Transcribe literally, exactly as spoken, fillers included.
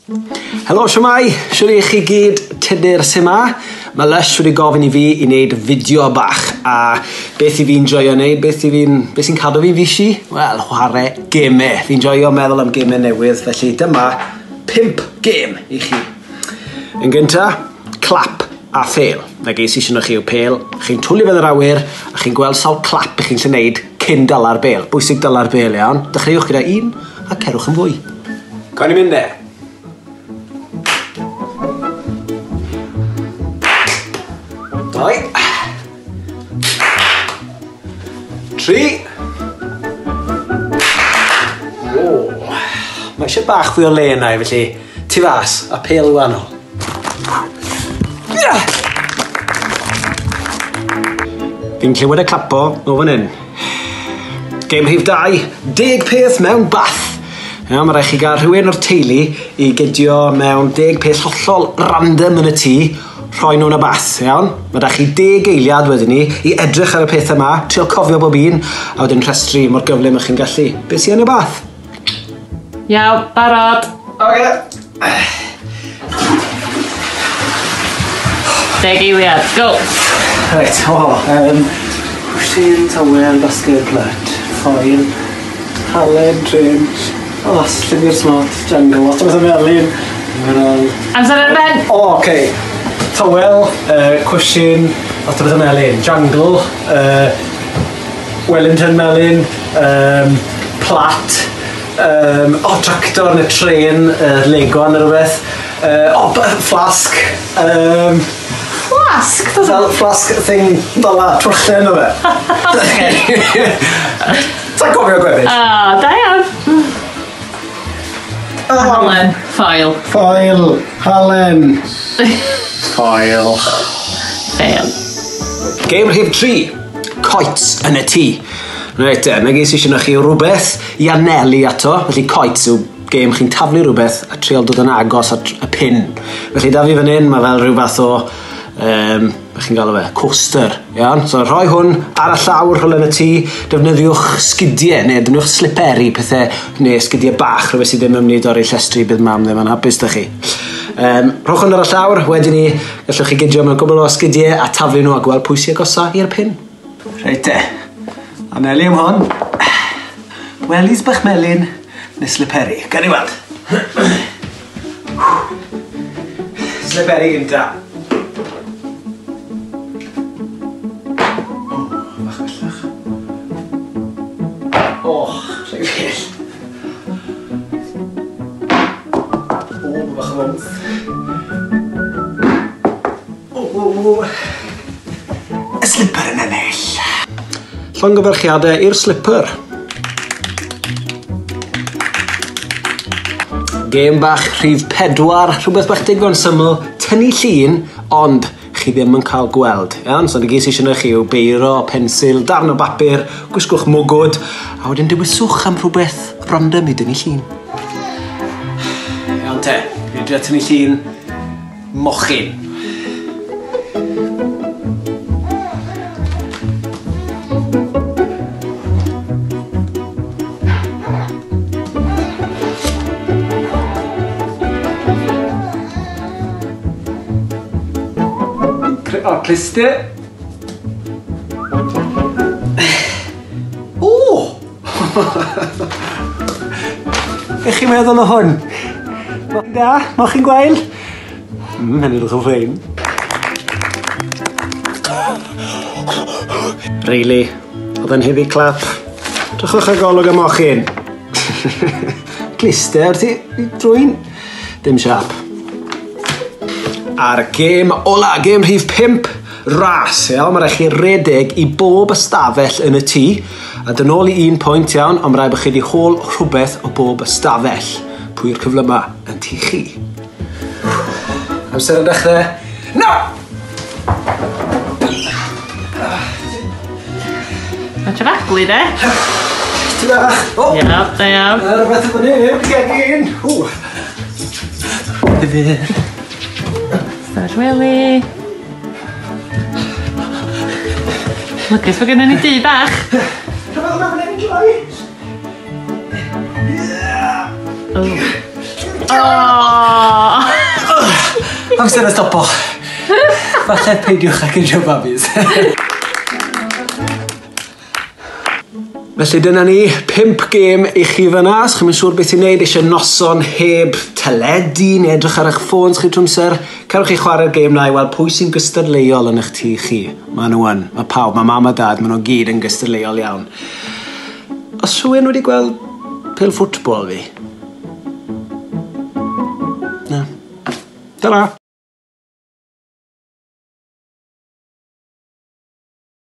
Helo, siwmai, siwr i chi gyd, Tudur sy 'ma. Mae Lush wedi gofyn i fi i wneud fideo bach, a beth i fi'n joio wneud, beth i fi'n, beth sy'n cadw fi'n fishi? Wel, chwarae gemau. Fi'n joio meddwl am gemau newydd, felly dyma pump gêm i chi. Yn gynta, clap a phêl. Na ges i eisiau chi yw pêl, chi'n twlu fe yn yr awyr, a chi'n gweld sawl clap i chi'n gallu wneud cyn dala'r bêl. Bwysig dala'r bêl, iawn. Dechreuwch gyda un, a cerwch yn fwy. Gawn ni mynd e? Dau. Tri. O, mae eisiau bach fwy o le yna, felly tu fas a pêl wahanol. Fi'n clywed y clapo o fan hyn. Gêm rhif dau, deg peth mewn bath. Iawn, mae rhaid chi gael rhywun o'r teulu i gydio mewn deg peth hollol random yn y tŷ, rhoi nhw'n y bath, iawn? Mae da chi deg eiliad wedyn ni i edrych ar y pethau yma, trio cofio bob un, a wedyn rhestru mor gyflym â chi'n gallu. Be sy yn y bath? Iawn, barod. Oce. Deg eiliad, go! Reit, o, um, cwshin, towel, basged, plat, foil, halen, trench, o, llyfr smart, jungle, lot o bethau melyn. Amser ar ben! O, oce. Towel, uh, cwshin, lot o bethau melyn, jungle, uh, Wellington melyn, um, plat, um, o, tractor neu tren, uh, Lego neu rhywbeth, uh, o, flask, um, Flask? Fel flask thing fel la, twrchen o fe. Sa'n cofio gweddill? O, da iawn. Halen, ffoil. Ffoil, halen. Ffoil. Fail. Gêm rhif tri, coets yn y tŷ. Reit, na ges i eisiau chi rhywbeth i anelu ato, felly coets yw gêm chi'n taflu rhywbeth a trial dod yn agos at y pin. Felly da fi fan hyn, mae fel rhyw fath o, um, be chi'n galw fe, coaster, iawn? So rhoi hwn ar y llawr rhywle yn y tŷ, defnyddiwch sgidiau, neu defnyddiwch sliperi, pethau, neu sgidiau bach, rhywbeth sydd ddim yn mynd i dorri llestri, bydd mam ddim yn hapus da chi. Um, rhowch hwn ar y llawr, wedyn ni, gallwch chi gydio mewn gwbl o sgidiau a taflu nhw a gweld pwy sy'n agosa i'r pin. Reit te, anelu am hwn. Wellies bach melyn neu sliperi. Gawn ni weld. Sliperi gynta. O, bach bellach. O, rhaid bell. O, bach o fwmp. O, o, o. Y slipper yn ennill. Llongyfarchiadau i'r slipper. Gêm bach rhif pedwar, rhywbeth bach digon syml, tynnu llun, ond chi ddim yn cael gweld. Iawn? So, na gyd sy eisiau chi yw beiro, pensil, darn o bapur, gwisgwch mwgwd, a wedyn dewiswch am rhywbeth random i dynnu llun. Iawn te, fi'n drio tynnu llun mochyn. O, cluster. O! Be chi'n meddwl o hwn? Mochyn da? Mochyn gwael? Mm, hynny'n edrych yn ffein. Really, oedd yn heavy clap. Drychwch ar golwg y mochyn. Cluster, ti drwy'n dim siap. A'r gêm ola, gêm rhif pump, ras, iawn. Mae rhaid chi redeg i bob ystafell yn y tŷ, a dyn ôl i un pwynt, iawn, ond mae rhaid bod chi wedi hôl rhywbeth o bob ystafell. Pwy yw'r cyflyma yn tŷ chi? Amser yn dechrau. No! Mae ti'n faglu, de? Ti bach. O! Iawn, da iawn. Mae rhywbeth yn fan hyn, gegin. Ww. Difyr. Stafell wely. Lwcus bod gennym ni dŷ bach. Rhywbeth yma fan hyn i droi. O. Oh. Amser y stopo. Falle peidiwch â cuddio babis. Felly dyna ni, pump gêm i chi fyna. Os chi'm yn siŵr beth i wneud, eisiau noson heb teledu neu edrych ar eich ffôns chi trwy amser, cerwch chi chwarae'r gêm na i weld pwy sy'n gystadleuol yn eich tŷ chi. Maen nhw yn. Mae pawb, mae mam a dad, maen nhw gyd yn gystadleuol iawn. Oes rhywun wedi gweld pêl ffwtbol fi? Na. Ta-ra!